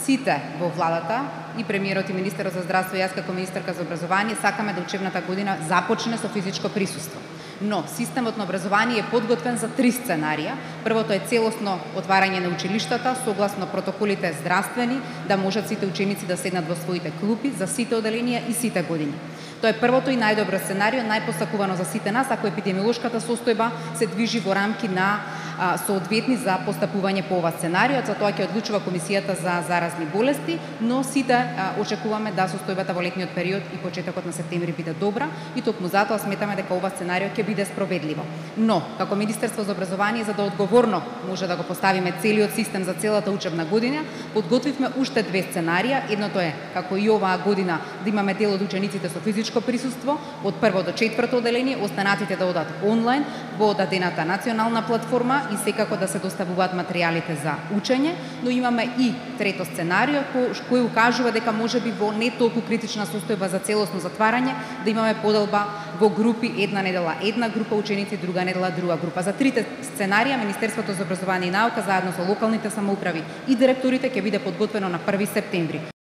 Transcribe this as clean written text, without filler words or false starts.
сите во владата, и премиерот и министерот за здравство и јас како министерка за образование сакаме да учебната година започне со физичко присуство. Но системот на образование е подготвен за 3 сценарија. Првото е целосно отварање на училиштата согласно протоколите здравствени, да можат сите ученици да седнат во своите клупи за сите оделенија и сите години. Тоа е првото и најдобро сценарио, најпосакувано за сите нас, ако епидемиолошката состојба се движи во рамки на соодветни за постапување по ова сценарио. За тоа ќе одлучува Комисијата за заразни болести, но сите очекуваме да состојбата во летниот период и почетокот на септември биде добра и токму затоа сметаме дека ова сценарио ќе биде спроведливо. Но, како Министерство за образование, за да одговорно може да го поставиме целиот систем за целата учебна година, подготвивме уште 2 сценарија. Едното е, како и оваа година, да имаме дел од учениците со физичко присуство, од 1 до 4 оделение, останатите да одат онлайн во одадената национална платформа и секако да се доставуваат материјалите за учење, но имаме и трето сценарио кој укажува дека можеби во не толку критична состојба за целосно затварање да имаме поделба во групи, една недела една група ученици, друга недела друга група. За трите сценарија Министерството за образование и наука заедно со локалните самоуправи и директорите ќе биде подготвено на 1 септември.